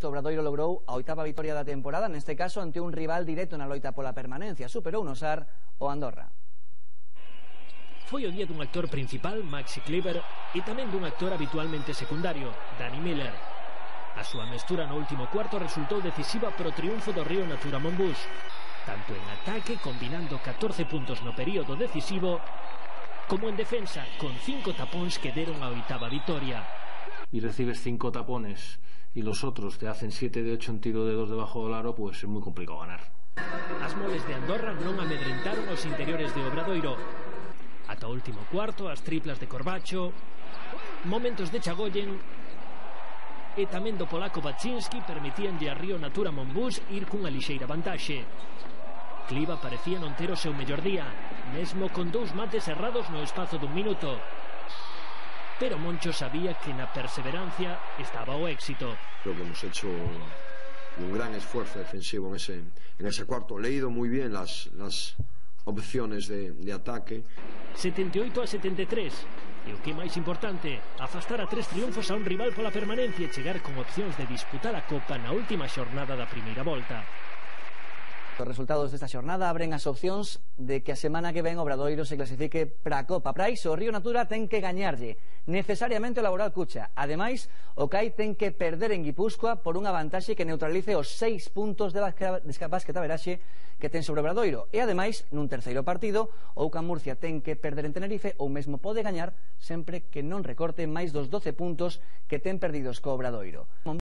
O Obradoiro logrou a 8ª vitoria da temporada, neste caso ante un rival directo na loita pola permanencia. Superou no Sar o Andorra. Foi o día dun actor principal, Maxi Kleber, e tamén dun actor habitualmente secundario, Dani Miller. A súa mestura no último cuarto resultou decisiva pro triunfo do Río Natura Monbús, tanto en ataque, combinando 14 puntos no período decisivo, como en defensa, con 5 tapóns que deron a 8ª vitoria. Y recibes 5 tapones y los otros te hacen 7 de 8 en tiro de 2 debajo del aro, pues es muy complicado ganar. As moles de Andorra non amedrentaron os interiores de Obradoiro. Ata o último cuarto, as triplas de Corbacho, momentos de Chagoyen e tamén do polaco Baczynski permitíanlle a Río Natura Monbús ir cunha lixeira vantaxe. Cliva parecía non ter o seu mellor día, mesmo con 2 mates errados no espazo dun minuto. Pero Moncho sabía que na perseverancia estaba o éxito. Creo que hemos hecho un gran esfuerzo defensivo en ese cuarto. Leído muy bien las opciones de ataque. 78-73. E o que é máis importante, afastar a 3 triunfos a un rival pola permanencia e chegar con opcións de disputar a Copa na última xornada da primeira volta. Os resultados desta xornada abren as opcións de que a semana que ven Obradoiro se clasifique para a Copa. Para iso, o Río Natura ten que gañarlle necesariamente o Laboral Cucha. Ademais, o CAI ten que perder en Guipúzcoa por unha vantaxe que neutralice os 6 puntos de basquetaveraxe que ten sobre Obradoiro. E ademais, nun terceiro partido, o UCAM Murcia ten que perder en Tenerife ou mesmo pode gañar sempre que non recorte máis dos 12 puntos que ten perdidos co Obradoiro.